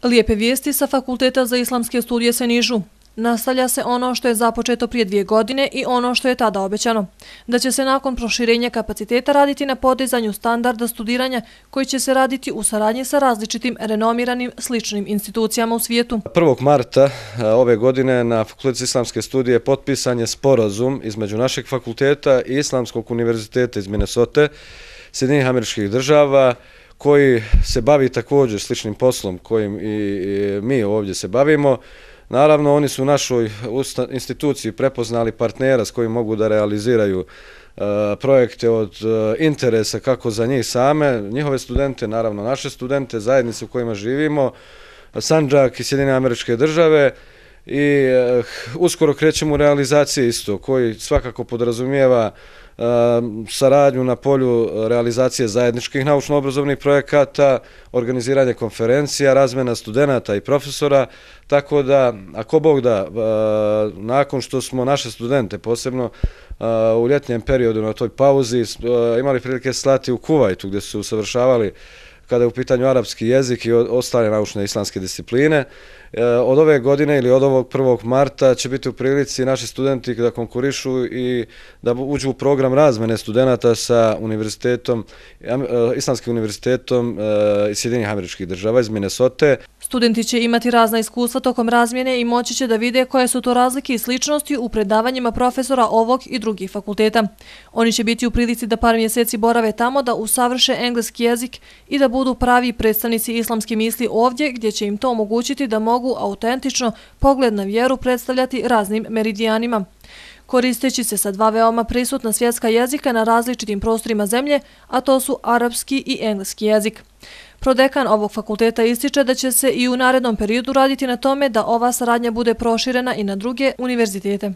Lijepe vijesti sa Fakulteta za islamske studije se nižu. Nastavlja se ono što je započeto prije 2 godine i ono što je tada obećano. Da će se nakon proširenja kapaciteta raditi na podizanju standarda studiranja koji će se raditi u saradnji sa različitim renomiranim sličnim institucijama u svijetu. 1. marta ove godine na Fakultetu za islamske studije potpisan je sporazum između našeg fakulteta i Islamskog univerziteta iz Minnesote, Sjedinjenih Američkih Država, koji se bavi također sličnim poslom kojim i mi ovdje se bavimo. Naravno, oni su u našoj instituciji prepoznali partnera s kojim mogu da realiziraju projekte od interesa kako za njih same, njihove studente, naravno naše studente, zajednice u kojima živimo, Sandžak i Sjedinjene Američke Države, i uskoro krećemo u realizacije isto, koji svakako podrazumijeva saradnju na polju realizacije zajedničkih naučno-obrazovnih projekata, organiziranje konferencija, razmjena studenata i profesora, tako da, ako Bog da, nakon što smo naše studente, posebno u ljetnjem periodu na toj pauzi, imali prilike slati u Kuvajtu gdje su se usavršavali kada je u pitanju arapski jezik i ostale naučne islamske discipline. Od ove godine ili od ovog 1. marta će biti u prilici naši studenti da konkurišu i da uđu u program razmene studenta sa univerzitetom, Islamskim univerzitetom iz Sjedinjenih Američkih Država iz Minnesote. Studenti će imati razna iskustva tokom razmjene i moći će da vide koje su to razlike i sličnosti u predavanjima profesora ovog i drugih fakulteta. Oni će biti u prilici da par mjeseci borave tamo, da usavrše engleski jezik i da budu pravi predstavnici islamske misli ovdje, gdje će im to omogućiti da mogu autentično pogled na vjeru predstavljati raznim meridijanima. Koristeći se sa 2 veoma prisutna svjetska jezika na različitim prostorima zemlje, a to su arapski i engleski jezik. Prodekan ovog fakulteta ističe da će se i u narednom periodu raditi na tome da ova saradnja bude proširena i na druge univerzitete.